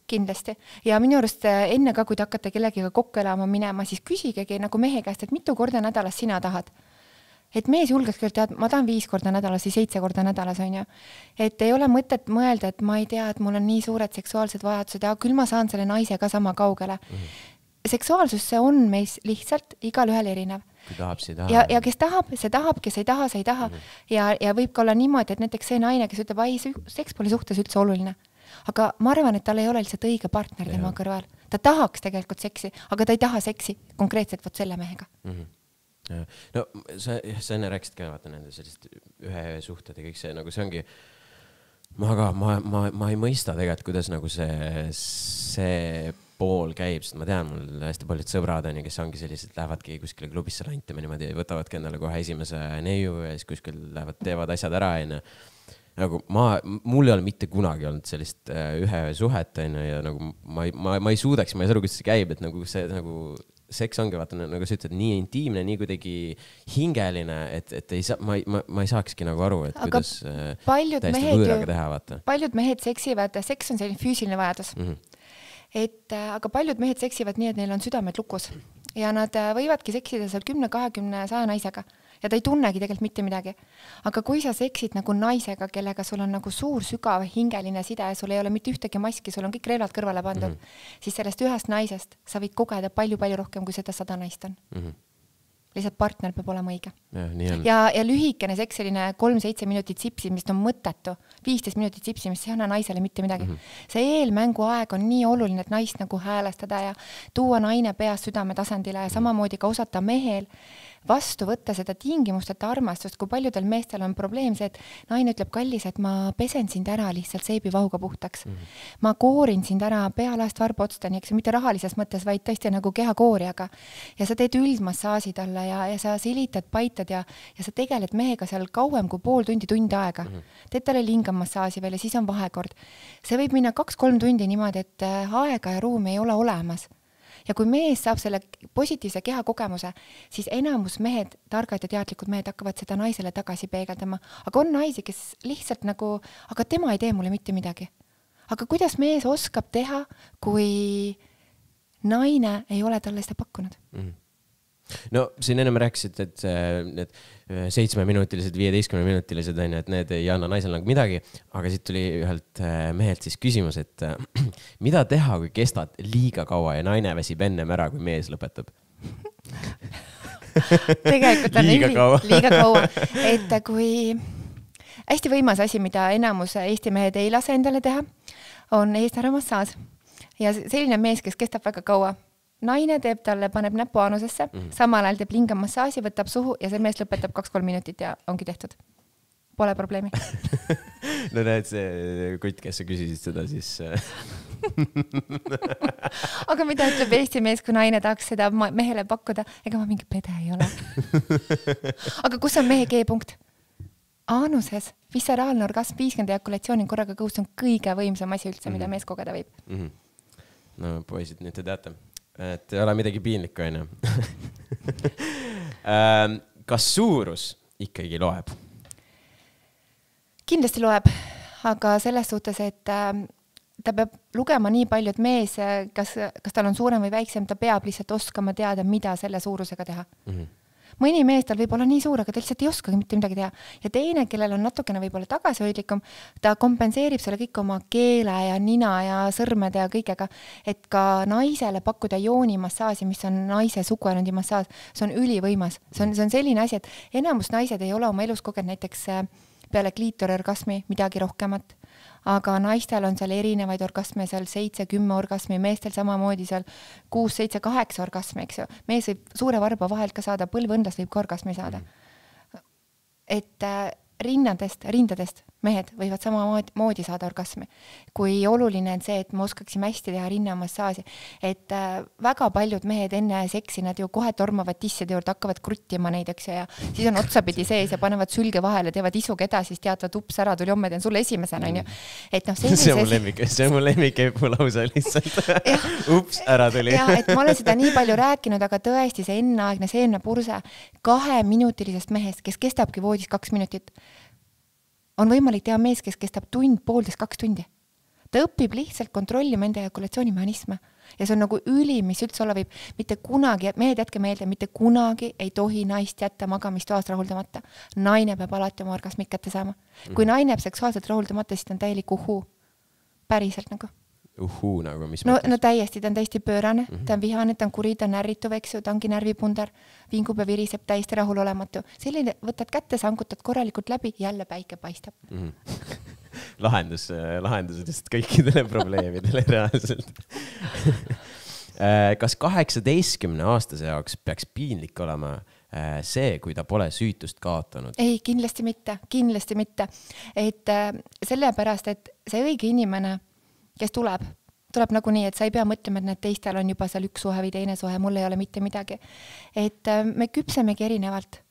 Kindlasti. Ja minu arust enne ka, kui te hakkate kellegiga kokku elama minema, siis küsigegi nagu mehe käest, et mitu korda nädalas sina tahad. Et mees julgeks küll tead, ma tahan 5 korda nädalas või 7 korda nädalas, on ju. Et ei ole mõtet mõelda, et ma ei tea, et mul on nii suured seksuaalsed vajadused ja küll ma saan selle naise ka sama kaugele. Seksuaalsus see on meis lihtsalt igal ühel erinev. Kui tahab, see taha. Ja kes tahab, kes ei taha, see ei taha. Ja võib ka olla niimoodi, et näiteks see naine, kes ütleb, ai, seks pole suhtes üldse oluline. Aga ma arvan, et tal ei ole lihtsalt õige partner tema kõrval. Ta tahaks tegelikult seksi, aga ta ei taha seksi konkreetselt võt selle mehega. No sa enne rääkisid ka, vaata nende sellist ühe suhted ja kõik see, nagu see ongi, ma ei mõista tegelikult, kuidas nagu see pool käib, sest ma tean, mul hästi paljud sõbrad on ja kes ongi sellised, lähevadki kuskile klubisse rantima niimoodi, võtavadki endale kohe esimese neiu ja siis kuskil lähevad, teevad asjad ära, nagu mul ei ole mitte kunagi olnud sellist ühe suhet, ja nagu ma ei suudaks, ma ei saa aru, kuidas see käib, et nagu see nagu seks ongi, vaata, nagu sa ütled, nii intiimne, nii kuidagi hingeline, et ei saa, ma ei saakski nagu aru, et aga kuidas täiesti võõraga teha, vaata. Paljud mehed seksivad, seks on selline füüsiline vajadus. Et aga paljud mehed seksivad nii, et neil on südamed lukus. ja nad võivadki seksida seal 10, 20, 100 naisega ja ta ei tunnegi tegelikult mitte midagi. Aga kui sa seksid nagu naisega, kellega sul on nagu suur, sügav, hingeline side ja sul ei ole mitte ühtegi maski, sul on kõik relvad kõrvale pandud, siis sellest ühest naisest sa võid kogeda palju-palju rohkem, kui seda 100 naist on. Lihtsalt partner peab olema õige. Ja lühikene sekseline 3-7 minutit sipsimist on mõttetu. 15 minutit sipsimist, see ei anna naisele mitte midagi. See eelmängu aeg on nii oluline, et naist nagu häälestada ja tuua naine peas südame tasandile ja samamoodi ka osata mehel vastu võtta seda tingimusteta armastust, kui paljudel meestel on probleem see, et naine ütleb, kallis, et ma pesen sind ära lihtsalt seibivahuga puhtaks. Ma koorin sind ära pealaest varbaotstani, eks mitte rahalises mõttes, vaid tõesti nagu kehakooriaga. Ja sa teed üldmassaaži talle ja sa silitad, paitad ja sa tegeled mehega seal kauem kui pool tundi, tund aega. Teed talle lingamassaaži veel ja siis on vahekord. See võib minna 2-3 tundi niimoodi, et aega ja ruumi ei ole olemas. Ja kui mees saab selle positiivse keha kogemuse, siis enamus mehed, targad ja teadlikud mehed hakkavad seda naisele tagasi peegeldama. Aga on naisi, kes lihtsalt nagu, aga tema ei tee mulle mitte midagi. Aga kuidas mees oskab teha, kui naine ei ole talle seda pakkunud? No siin ennem rääkisid, et need 7-minutilised, 15-minutilised, et need ei anna naisel nagu midagi, aga siit tuli ühelt mehelt siis küsimus, et mida teha, kui kestad liiga kaua ja naine väsib ennem ära, kui mees lõpetab? Tegelikult on liiga kaua. Et kui hästi võimas asi, mida enamus Eesti mehed ei lase endale teha, on eesnääramassaaž. Ja selline mees, kes kestab väga kaua, naine teeb talle, paneb näpu aanusesse, samal ajal teeb lingamassaaži, võtab suhu ja see mees lõpetab 2-3 minutit ja ongi tehtud. Pole probleemi. No näed, see kutt, kes sa küsisid seda, siis... Aga mida ütleb Eesti mees, kui naine tahaks seda mehele pakkuda? Ega ma mingi pede ei ole. Aga kus on mehe G-punkt? Aanuses, visceraalne orgasm, 50 ejakulatsiooni korraga kõhus on kõige võimsam asi üldse, mida mees kogeda võib. No poisid, nüüd te teate. Et ei ole midagi piinlikku, on ju. Kas suurus ikkagi loeb? Kindlasti loeb, aga selles suhtes, et ta peab lugema nii palju, et mees, kas tal on suurem või väiksem, ta peab lihtsalt oskama teada, mida selle suurusega teha. Mõni mees tal võib olla nii suur, aga ta lihtsalt ei oskagi mitte midagi teha. Ja teine, kellel on natukene võib-olla tagasihoidlikum, ta kompenseerib selle kõik oma keele ja nina ja sõrmede ja kõigega, et ka naisele pakkuda joonimassaaži, mis on naise suguelundi massaaž, see on ülivõimas. See on selline asi, et enamus naised ei ole oma elus kogenud näiteks peale kliitoriorgasmi midagi rohkemat. Aga naistel on seal erinevaid orgasme, seal 7-10 orgasmi, meestel samamoodi seal 6-7-8 orgasmi, eks ju. Mees võib suure varba vahelt ka saada, põlvõndlas võib ka orgasmi saada. Et rindadest mehed võivad samamoodi saada orgasmi. Kui oluline on see, et me oskaksime hästi teha rinnamassaaži, et väga paljud mehed enne seksi, nad ju kohe tormavad tisside juurde, hakkavad kruttima neid, eks ju, ja siis on otsapidi sees ja panevad sülge vahele, teevad isuga edasi, siis teatavad, ups, ära tuli homme, teen sulle esimesena, on ju. Et noh, see on mu lemmik lausa lihtsalt. Ups, ära tuli. Ja, et ma olen seda nii palju rääkinud, aga tõesti see enneaegne seemnepurse 2-minutilisest mehest, kes kestabki voodis 2 minutit, on võimalik teha mees, kes kestab tund, poolteist, 2 tundi. Ta õpib lihtsalt kontrollima enda ejakulatsioonimehhanisme. Ja see on nagu ülim, mis üldse olla võib. Mitte kunagi, mehed jätke meelde, mitte kunagi ei tohi naist jätta magamistoast rahuldamata. Naine peab alati oma orgasmid kätte saama. Kui naine jääb seksuaalselt rahuldamata, siis ta on täielik uhuu. Päriselt nagu. Uhuu nagu, mis mõttes? No täiesti, ta on täiesti pöörane, ta on vihane, ta on kuri, ta on närrituv, eks ju, ta ongi närvipundar, vingub ja viriseb täiesti rahul olematu. Selline võtad kätte, sankutad korralikult läbi, jälle päike paistab. Lahendusest kõikidele probleemidele reaalselt. Kas 18-aastase jaoks peaks piinlik olema see, kui ta pole süütust kaotanud? Ei, kindlasti mitte. Et sellepärast, et see õige inimene, kes tuleb nagu nii, et sa ei pea mõtlema, et need teistel on juba seal üks suhe või teine suhe, mul ei ole mitte midagi. Et me küpsemegi erinevalt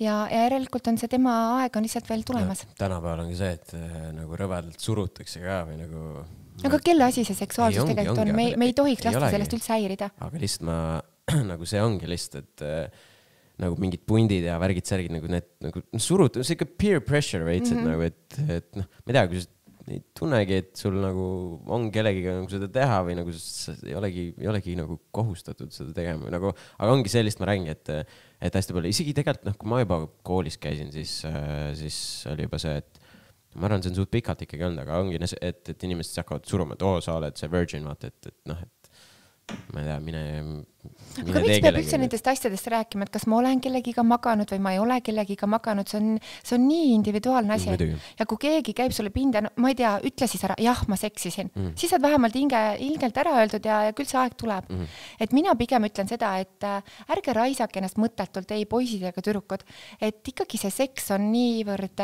ja järelikult on see tema aeg on lihtsalt veel tulemas. Tänapäeval ongi see, et nagu rõvedalt surutakse ka või nagu... Aga kelle asi see seksuaalsus tegelikult on? Me ei tohiks lasta sellest üldse häirida. Aga lihtsalt nagu see ongi lihtsalt, et nagu mingid pundid ja värgid, särgid nagu need nagu surud, see ikka peer pressure veits, et nagu, et noh, ma ei tea, kui ei tunnegi, et sul nagu on kellegiga nagu seda teha või nagu ei olegi nagu kohustatud seda tegema või nagu, aga ongi sellist ma räägin, et hästi palju, isegi tegelikult kui ma juba koolis käisin, siis oli juba see, et ma arvan, see on suht pikalt ikkagi olnud, aga ongi, et inimesed hakkavad suruma, et sa oled see virgin, vaata, et noh, et ma ei tea, mine aga miks peab üldse nendest asjadest rääkima, et kas ma olen kellegiga maganud või ma ei ole kellegiga maganud, see on nii individuaalne asi. Ja kui keegi käib sulle pinda, no, ma ei tea, ütle siis ära, jah, ma seksisin. Siis saad vähemalt ilgelt ära öeldud ja küll see aeg tuleb. Et mina pigem ütlen seda, et ärge raisake ennast mõttetult, ei poisid ega tüdrukud, et ikkagi see seks on niivõrd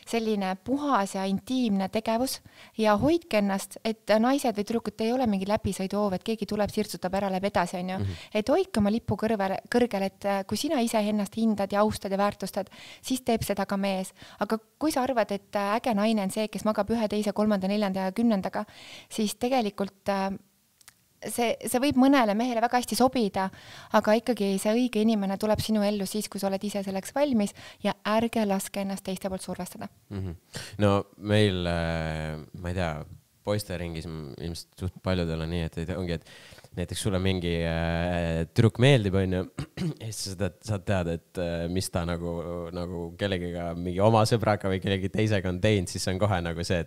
selline puhas ja intiimne tegevus ja hoidke ennast, et naised või tüdrukud ei ole mingi läbisõiduhoov, et keegi tuleb, sirtsutab ära, läheb edasi, on ju. Et hoidke oma lipu kõrgel, et kui sina ise ennast hindad ja austad ja väärtustad, siis teeb seda ka mees. Aga kui sa arvad, et äge naine on see, kes magab 1, 2, 3, 4 ja 10, siis tegelikult see võib mõnele mehele väga hästi sobida, aga ikkagi see õige inimene tuleb sinu ellu siis, kui sa oled ise selleks valmis ja ärge laske ennast teiste poolt survestada. No meil, ma ei tea, poisteringis ilmselt suht paljudel on nii, et ongi, et näiteks sulle mingi trükk meeldib, on ju, ja siis saad teada, et mis ta nagu kellegiga mingi oma sõbraga või kellegi teisega on teinud, siis on kohe nagu see,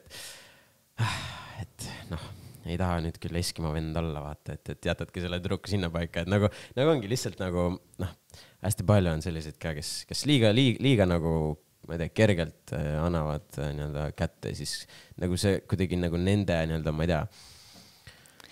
et noh, ei taha nüüd küll Eskimo vend olla, vaata, et jätadki selle trükku sinna paika, et nagu ongi lihtsalt nagu, noh, hästi palju on selliseid ka, kes liiga nagu, ma ei tea, kergelt annavad nii-öelda kätte, siis nagu see kuidagi nagu nende nii-öelda, ma ei tea,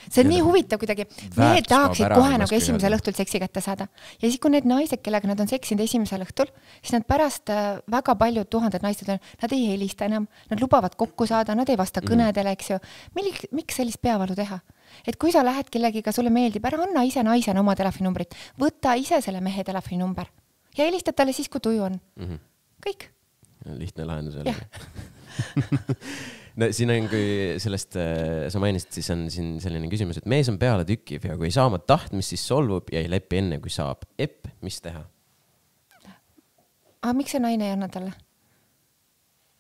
see on nii huvitav kuidagi. Mehed tahaksid kohe nagu esimesel õhtul seksi kätte saada. Ja siis kui need naised, kellega nad on seksinud esimesel õhtul, siis nad pärast väga paljud tuhanded naised on, nad ei helista enam, nad lubavad kokku saada, nad ei vasta kõnedele, eks ju. Miks sellist peavalu teha? Et kui sa lähed kellegiga, sulle meeldib, ära anna ise naisena oma telefoninumbrit, võta ise selle mehe telefoninumber ja helistad talle siis, kui tuju on. Kõik. Lihtne lahendus jälle. No siin on, kui sellest sa mainisid, siis on siin selline küsimus, et mees on peale tükiv ja kui ei saa oma tahtmist, siis solvub ja ei lepi enne, kui saab. Mis teha? Aga miks see naine ei anna talle?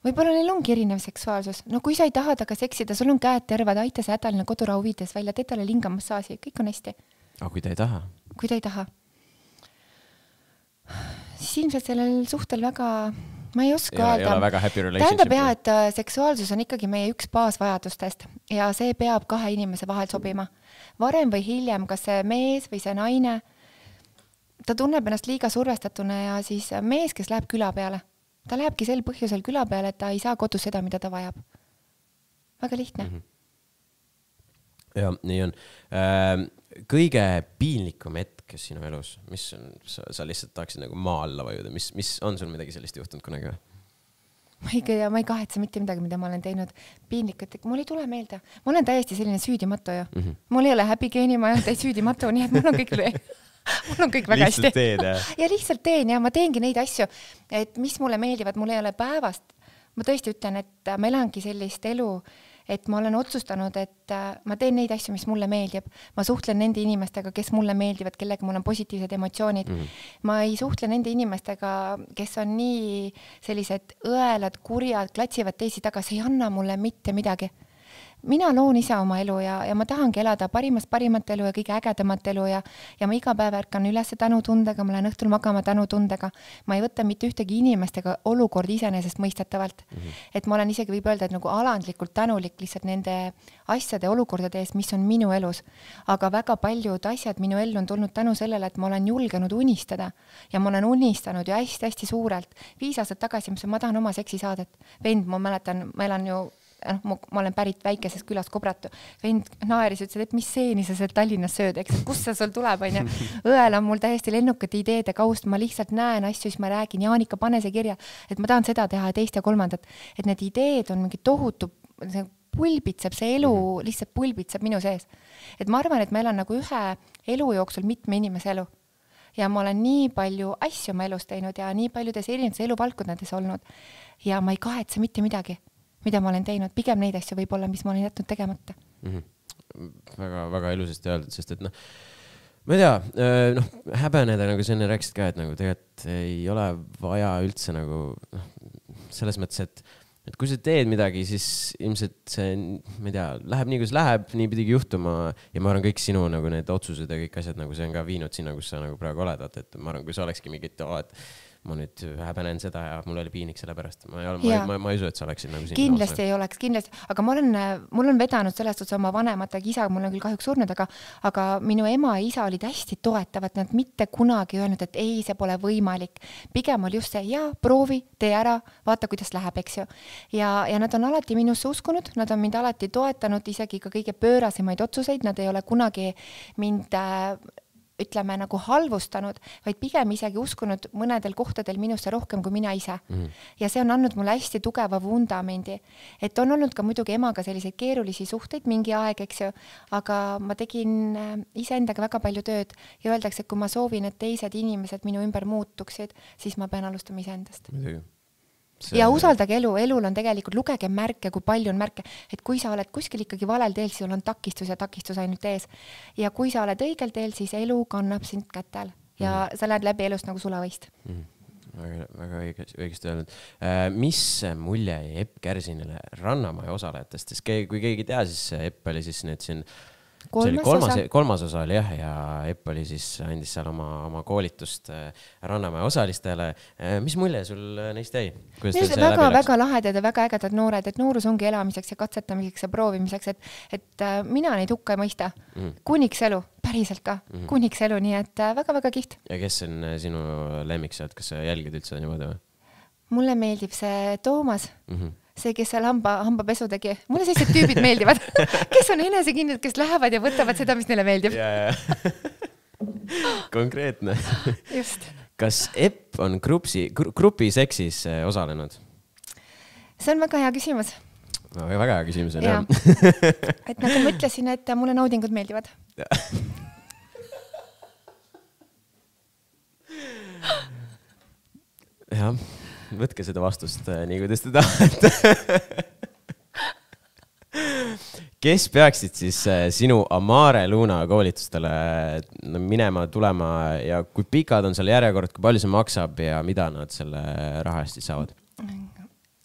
Võib-olla neil ongi erinev seksuaalsus. No kui sa ei taha taga seksida, sul on käed tervad, aita see hädaline kodurahu viides välja, teed talle lingamassaaži, kõik on hästi. Aga kui ta ei taha? Kui ta ei taha. Siis ilmselt sellel suhtel väga... Ma ei oska öelda. Tähendab jah, et seksuaalsus on ikkagi meie üks baasvajadustest ja see peab kahe inimese vahel sobima. Varem või hiljem, kas see mees või see naine, ta tunneb ennast liiga survestatuna ja siis mees, kes läheb küla peale. Ta lähebki sel põhjusel küla peale, et ta ei saa kodus seda, mida ta vajab. Väga lihtne. Ja, nii on. Kõige piinlikum hetk sinu elus, mis on, sa lihtsalt tahaksid nagu maa alla vajuda, mis on sul midagi sellist juhtunud kunagi või? Ma ei kahetse mitte midagi, mida ma olen teinud piinlikult, mul ei tule meelde. Ma olen täiesti selline süüdimatu ju. Mul ei ole häbigeeni, ma ei ole täiesti süüdimatu, nii et mul on kõik väga hästi. Lihtsalt teen, jah? Ja lihtsalt teen ja ma teengi neid asju, et mis mulle meeldivad, mul ei ole päevast. Ma tõesti ütlen, et ma elangi sellist elu, et ma olen otsustanud, et ma teen neid asju, mis mulle meeldib. Ma suhtlen nende inimestega, kes mulle meeldivad, kellega mul on positiivsed emotsioonid. Ma ei suhtle nende inimestega, kes on nii sellised õelad, kurjad, klatsivad teisi taga, see ei anna mulle mitte midagi. Mina loon ise oma elu ja ma tahangi elada parimat elu ja kõige ägedamat elu ja ma iga päev ärkan üles tänutundega, ma lähen õhtul magama tänutundega. Ma ei võta mitte ühtegi inimestega olukord iseenesest mõistetavalt. Et ma olen isegi võib öelda, et nagu alandlikult tänulik lihtsalt nende asjade olukordade eest, mis on minu elus. Aga väga paljud asjad minu ellu on tulnud tänu sellele, et ma olen julgenud unistada ja ma olen unistanud ju hästi suurelt. 5 aastat tagasi ma tahan oma seksisaadet. Vend, ma mäletan, ma elan ju ma olen pärit väikesest külast Kobratu. Vend naeris ütles, et mis seeni sa seal Tallinnas sööd, eks, kust see sul tuleb, on ju. Õel on mul täiesti lennukate ideede kaust, ma lihtsalt näen asju, siis ma räägin, Jaanika, pane see kirja, et ma tahan seda teha ja teist ja kolmandat, et need ideed on mingi tohutu, see pulbitseb, see elu lihtsalt pulbitseb minu sees. Et ma arvan, et ma elan nagu ühe elu jooksul mitme inimese elu. Ja ma olen nii palju asju oma elus teinud ja nii paljudes erinevates eluvaldkondades olnud ja ma ei kahetse mitte midagi, mida ma olen teinud. Pigem neid asju võib olla, mis ma olen jätnud tegemata. Väga ilusasti öeldud, sest et noh, ma ei tea, häbeneda, nagu sa enne rääkisid ka, et nagu tegelikult ei ole vaja üldse nagu selles mõttes, et kui sa teed midagi, siis ilmselt see, ma ei tea, läheb nii, kus läheb, nii pidigi juhtuma ja ma arvan, kõik sinu nagu need otsused ja kõik asjad, nagu see on ka viinud sinna, kus sa nagu praegu oled, et ma arvan, kui sa olekski mingit, et ma nüüd häbenen seda ja mul oli piinik selle pärast. Ma ei usu, et sa oleksid nagu siin. Kindlasti ei oleks, kindlasti. Aga mul on vedanud sellest otsa oma vanematega, isa mul on küll kahjuks surnud, aga minu ema ja isa olid hästi toetavad, nad mitte kunagi öelnud, et ei, see pole võimalik. Pigem oli just see, proovi, tee ära, vaata, kuidas läheb, eks ju. Ja nad on alati minusse uskunud, nad on mind alati toetanud, isegi ka kõige pöörasemaid otsuseid, nad ei ole kunagi mind ütleme nagu halvustanud, vaid pigem isegi uskunud mõnedel kohtadel minusse rohkem kui mina ise. Ja see on andnud mulle hästi tugeva vundamendi. Et on olnud ka muidugi emaga selliseid keerulisi suhteid mingi aeg, eks ju, aga ma tegin iseendaga väga palju tööd ja öeldakse, et kui ma soovin, et teised inimesed minu ümber muutuksid, siis ma pean alustama iseendast. Ja usaldage elu, elul on tegelikult, lugege märke, kui palju on märke, et kui sa oled kuskil ikkagi valel teel, siis sul on takistus ja takistus ainult ees. Ja kui sa oled õigel teel, siis elu kannab sind kätel ja sa lähed läbi elust nagu sulavõist. Väga õigesti öelnud. Mis mulje Epp Kärsinile Rannamaja osalejatest? Kui keegi tea, siis Epp oli siis nüüd siin kolmas osa oli jah, ja Epp oli siis andis seal oma koolitust Rannamaja osalistele. Mis mulje sul neist jäi? Need on väga lahedad ja väga ägedad noored, et noorus ongi elamiseks ja katsetamiseks ja proovimiseks, et mina neid hukka ei mõista. Kuniks elu, päriselt ka, kuniks elu, nii et väga-väga kiht. Ja kes on sinu lemmik sealt, kas sa jälgid üldse niimoodi või? Mulle meeldib see Toomas. See, kes seal hambapesu tegi. Mulle sellised tüübid meeldivad, kes on enesekindlad, kes lähevad ja võtavad seda, mis neile meeldib. Konkreetne. Just. Kas Epp on grupi seksis osalenud? See on väga hea küsimus. Väga hea küsimus on, jah. Et nagu mõtlesin, et mulle naudingud meeldivad. Jah. Võtke seda vastust nii, kuidas te tahate. Kes peaksid siis sinu Amare Luna koolitustele minema, tulema ja kui pikad on seal järjekord, kui palju see maksab ja mida nad selle raha eest saavad?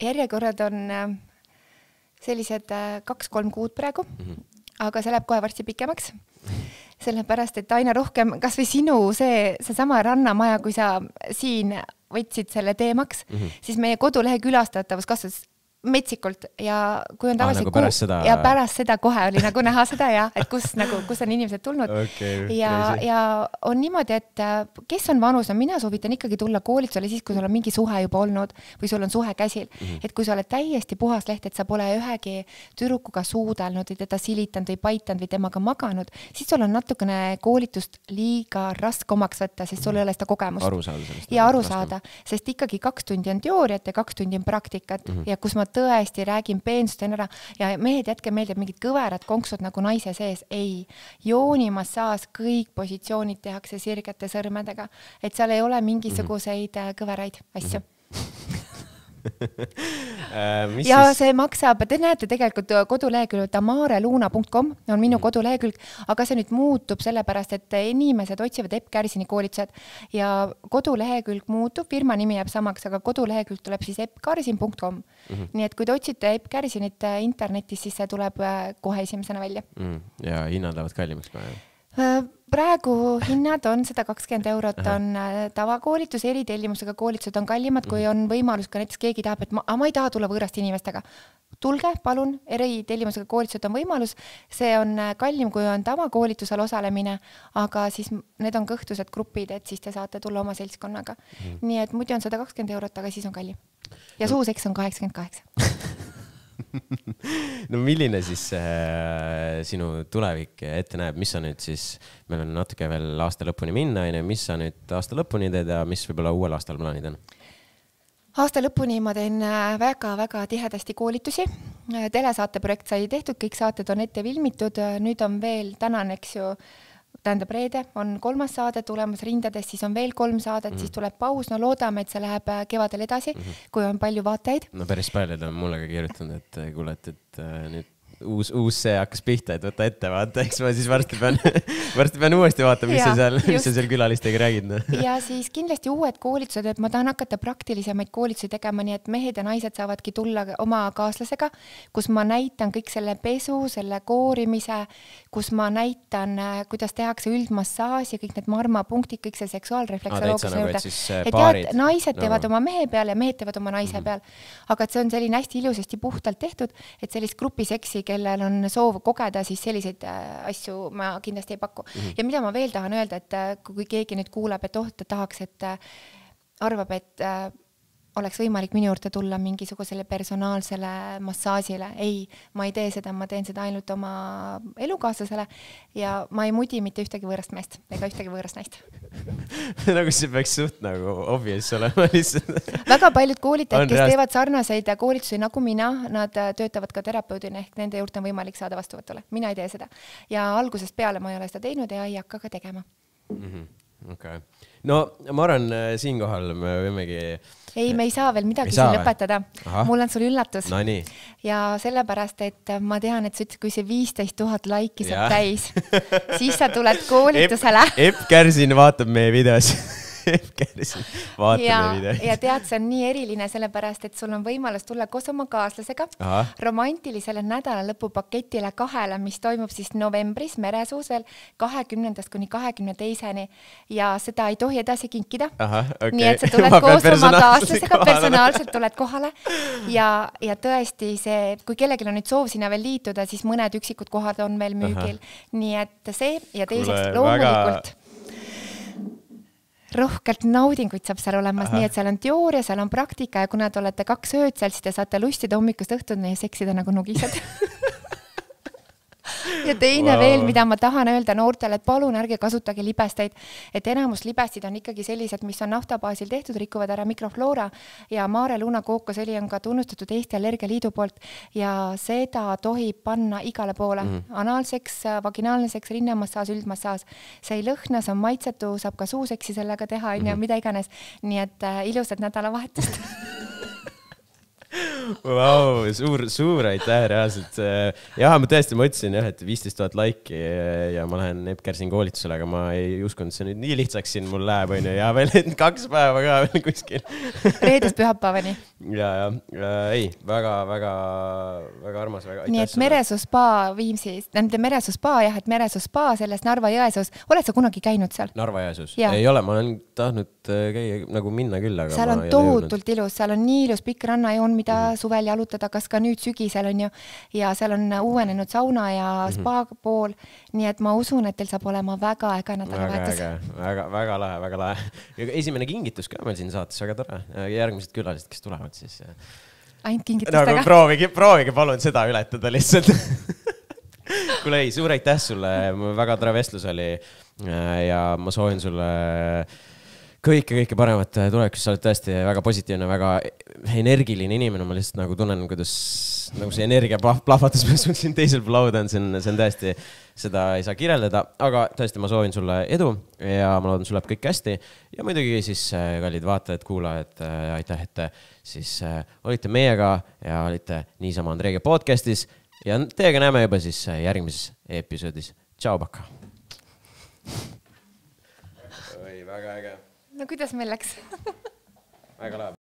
Järjekorrad on sellised 2-3 kuud praegu, aga see läheb kohe varsti pikemaks. Sellepärast, et aina rohkem, kas või sinu see sama Rannamaja, kui sa siin võtsid selle teemaks, siis meie kodulehe külastatavus kasvas metsikult ja kui on tavalisi nagu pärast seda kohe oli nagu näha seda ja et kus on inimesed tulnud ja on niimoodi, et kes on vanus, mina soovitan ikkagi tulla koolitusele siis, kui sul on mingi suhe juba olnud või sul on suhe käsil, et kui sa oled täiesti puhas leht, et sa pole ühegi tüdrukuga suudelnud või teda silitanud või paitanud või temaga maganud, siis sul on natukene koolitust liiga raske omaks võtta, sest sul ei ole seda kogemust aru saada, sest ikkagi 2 tundi on teooriat ja 2 tundi on praktikat ja kus ma tõesti räägin peensust ära ja mehed jätke meeldib mingid kõverad konksud nagu naise sees. Ei, joonimassaas kõik positsioonid tehakse sirgete sõrmedega, et seal ei ole mingisuguseid kõveraid asju. Ja see maksab, te näete tegelikult kodulehekülg tamareluna.com on minu kodulehekülg, aga see nüüd muutub sellepärast, et inimesed otsivad Epp Kärsini koolitused ja kodulehekülg muutub, firma nimi jääb samaks, aga kodulehekülg tuleb siis eppkarsin.com. Nii et kui te otsite Epp Kärsinit internetis, siis see tuleb kohe esimesena välja. Ja hinnad lähevad kallimaks praegu? Praegu hinnad on 120 eurot, on tavakoolitus, eritellimusega koolitused on kallimad, kui on võimalus ka näiteks keegi tahab, et ma ei taha tulla võõraste inimestega. Tulge, palun, eritellimusega koolitused on võimalus, see on kallim, kui on tavakoolitusel osalemine, aga siis need on kõhtused grupid, et siis te saate tulla oma seltskonnaga. Nii et muidu on 120 eurot, aga siis on kallim. Ja suuseks on 88. No milline siis sinu tulevik ette näeb, mis sa nüüd siis, meil on natuke veel aasta lõpuni minna, mis sa nüüd aasta lõpuni teed ja mis võib-olla uuel aastal plaanid on? Aasta lõpuni ma teen väga-väga tihedasti koolitusi. Telesaate projekt sai tehtud, kõik saated on ette filmitud, nüüd on veel tänan, eks ju, tähendab reede, on 3. saade tulemas rindadest, siis on veel 3 saadet, siis tuleb paus, no loodame, et see läheb kevadel edasi, kui on palju vaatajaid. No päris paljud on mulle ka kirjutanud, et kuule, et nüüd uus see hakkas pihta, et võta ette, vaata, eks ma siis varsti pean uuesti vaatama, mis sa seal külalistega räägid. Ja siis kindlasti uued koolitused, et ma tahan hakata praktilisemaid koolitusi tegema, nii et mehed ja naised saavadki tulla oma kaaslasega, kus ma näitan kõik selle pesu, selle koorimise, kus ma näitan, kuidas tehakse üldmassaas ja kõik need marmapunktid, kõik see seksuaalrefleksoloogia juurde. Et naised teevad oma mehe peal ja mehed teevad oma naise peal. Aga et see on selline hästi ilusasti puhtalt tehtud, et sellist grupiseksi, kellel on soov kogeda, siis selliseid asju ma kindlasti ei paku. Ja mida ma veel tahan öelda, et kui keegi nüüd kuuleb, et ta tahaks, et arvab, et oleks võimalik minu juurde tulla mingisugusele personaalsele massaažile. Ei, ma ei tee seda, ma teen seda ainult oma elukaaslasele ja ma ei mudi mitte ühtegi võõrast meest ega ühtegi võõrast naist. Nagu see peaks suht nagu obvious olema lihtsalt. Väga paljud koolitajad, kes teevad sarnaseid koolitusi nagu mina, nad töötavad ka terapeudina ehk nende juurde on võimalik saada vastuvõtule. Mina ei tee seda. Ja algusest peale ma ei ole seda teinud ja ei hakka ka tegema. Okay. No ma arvan, siinkohal me võimegi... Ei, me ei saa veel midagi siin lõpetada. Mul on sul üllatus. No nii. Ja sellepärast, et ma tean, et kui see 15 000 laiki saab täis, siis sa tuled koolitusele. Epp Kärsin vaatab meie videos. Ja tead, see on nii eriline sellepärast, et sul on võimalus tulla koos oma kaaslasega romantilisele nädala lõpupaketile 2, mis toimub siis novembris Meresuusel 20. kuni 22. Ja seda ei tohi edasi kinkida. Nii et sa tuled koos oma kaaslasega, personaalselt tuled kohale ja tõesti see, kui kellelgi on nüüd soov sinna veel liituda, siis mõned üksikud kohad on veel müügil. Nii et see ja teiseks loomulikult rohkelt naudinguid saab seal olemas, nii et seal on teooria, seal on praktika ja kuna te olete 2 ööd seal, siis te saate lustida hommikust õhtuni ja seksida nagu nugised. Ja teine veel, mida ma tahan öelda noortele, et palun ärge kasutage libesteid, et enamus libestid on ikkagi sellised, mis on naftabaasil tehtud, rikuvad ära mikrofloora ja Maare Luna kookosõli on ka tunnustatud Eesti Allergialiidu poolt ja seda tohib panna igale poole. Analseks, vaginaalne seks, rinnemassaaž, üldmassaas. See ei lõhna, see on maitsetu, saab ka suuseksi sellega teha, mida iganes. Nii et ilusad nädalavahetust. Wow, suur aitäh reaalselt. Jah, ma tõesti mõtlesin, et 15 000 laiki ja ma lähen Epp Kärsin koolitusele, aga ma ei uskunud, see nüüd nii lihtsaks siin mul läheb, ja veel 2 päeva ka veel kuskil. Reedest pühapäevani. Ja, ei, väga armas. Nii et Meresoo spa Viimsis, Meresoo spa, jah, et Meresoo spa selles Narva Jõesuus. Oled sa kunagi käinud seal? Narva Jõesuus? Ei ole, ma olen tahtnud käia nagu minna küll, aga seal on tohutult ilus, seal on nii ilus pikk rannajoon, mida suvel jalutada, kas ka nüüd sügisel on ju, ja seal on uuenenud sauna ja spa pool, nii et ma usun, et teil saab olema väga äge nädalavahetus. Väga lahe. Ja esimene kingitus ka meil siin saates, väga tore. Järgmised külalised, kes tulevad siis. Ainult kingitustega. Proovige palun seda ületada lihtsalt. Kuule ei, suur aitäh sulle, väga tore vestlus oli ja ma soovin sulle kõike paremat tulevikus, sa oled tõesti väga positiivne, väga energiline inimene, ma lihtsalt nagu tunnen, kuidas nagu see energia plahvatas siin teisel lauda on, see on tõesti, seda ei saa kirjeldada, aga tõesti ma soovin sulle edu ja ma loodan, sul läheb kõik hästi ja muidugi siis kallid vaatajad, kuulajad, aitäh, et siis olite meiega ja olite niisama Andreega podcastis ja teiega näeme juba siis järgmises episoodis. Tšau, Paka! Oi, väga äge! No kuidas meil läks? Väga läheb.